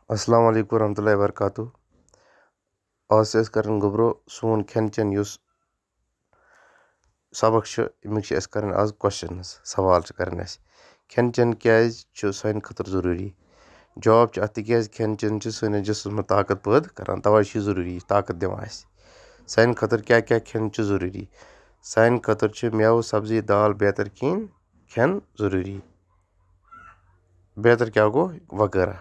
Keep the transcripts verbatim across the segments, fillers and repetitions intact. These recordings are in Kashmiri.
السلام علیکم ورحمۃ اللہ وبرکاتہ۔ آز چھِ أسۍ کران گوٚبرو سون کھٮ۪ن چٮ۪ن یُس سبق چھُ، اَمِکۍ چھِ اَسہِ کرٕنۍ آز questions، سوال چھِ کرٕنۍ اَسہِ۔ کھٮ۪ن چٮ۪ن کیازِ چھُ سانہِ خٲطرٕ ضروٗری؟ جواب چھُ اَتھ، تِکیازِ کھٮ۪ن چٮ۪ن چھُ سٲنِس جسمس منٛز طاقت پٲدٕ کران، توے چھُ یہِ ضروٗری، یہِ چھُ طاقت دِوان اَسہِ۔ سانہِ خٲطرٕ کیاہ کیاہ کھٮ۪ن چھُ ضروٗری؟ سانہِ خٲطرٕ چھُ مٮ۪وٕ، سبزی، دال، بیتر کھیٚنۍ، کھٮ۪ن ضروٗری۔ بیتر کیاہ گوٚو؟ وغٲرہ۔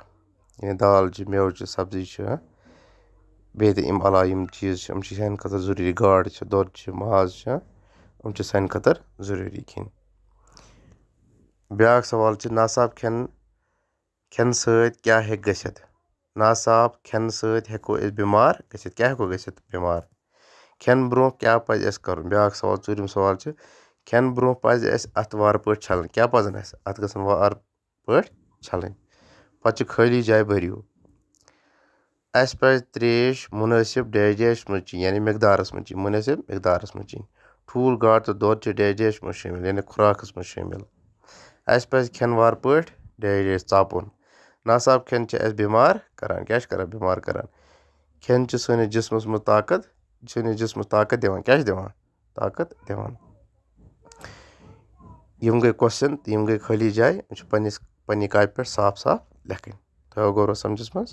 یعنی دال چھِ، مٮ۪وٕ چھِ، سبزی چھِ، بیٚیہِ تہِ اَمہِ علاوٕ یِم چیٖز چھِ، یِم چھِ سانہِ خٲطرٕ ضروٗری۔ گاڈ چھِ، دۄد چھِ، ماز چھِ، یِم چھِ سانہِ خٲطرٕ ضروٗری کھیٚنۍ۔ بیٛاکھ سوال چھِ، ناصاف کھٮ۪ن، کھٮ۪نہٕ سۭتۍ کیٛاہ ہیٚکہِ گٔژھِتھ؟ ناصاف کھٮ۪نہٕ سۭتۍ ہیٚکو أسۍ بٮ۪مار گٔژھِتھ۔ کیٛاہ ہیٚکو گٔژھِتھ بٮ۪مار؟ کھٮ۪نہٕ برٛونٛہہ کیٛاہ پَزِ اَسہِ کَرُن؟ بیٛاکھ سوال، ژوٗرِم سوال چھِ، کھٮ۪نہٕ برٛونٛہہ پَزِ اَسہِ اَتھٕ وارٕ پٲٹھۍ چھَلٕنۍ۔ کیٛاہ پَزَن اَسہِ؟ اَتھٕ گژھن وارٕ پٲٹھۍ چھَلٕنۍ۔ پَتہٕ چھِ خٲلی جایہِ بٔرِو۔ اَسہِ پَزِ ترٛیش مُنٲسِب ڈیش ڈیش منٛز چیٚنۍ، یعنی مقدارَس منٛز چیٚنۍ، مُنٲسِب مقدارَس منٛز چیٚنۍ۔ ٹھوٗل، گاڈ تہٕ دۄد چھِ ڈیش ڈیش منٛز شٲمِل، یعنی خوراکَس منٛز شٲمِل۔ اَسہِ پَزِ کھٮ۪ن وارٕ پٲٹھۍ ڈیش ڈیش ژاپُن۔ ناصاف کھٮ۪ن چھِ اَسہِ بٮ۪مار کَران۔ کیٛاہ چھِ کَران؟ بٮ۪مار کَران۔ کھٮ۪ن چھِ سٲنِس جسمَس منٛز طاقت، سٲنِس جسمَس طاقت دِوان۔ کیٛاہ چھِ دِوان؟ طاقت دِوان۔ یِم گٔے question تہٕ یِم گٔے خٲلی جایہِ۔ یِم چھِ پنٛنِس، پنٛنہِ کاپہِ پٮ۪ٹھ صاف صاف لیکھٕنۍ۔ تھٲیِو غورو سَمجھَس منٛز۔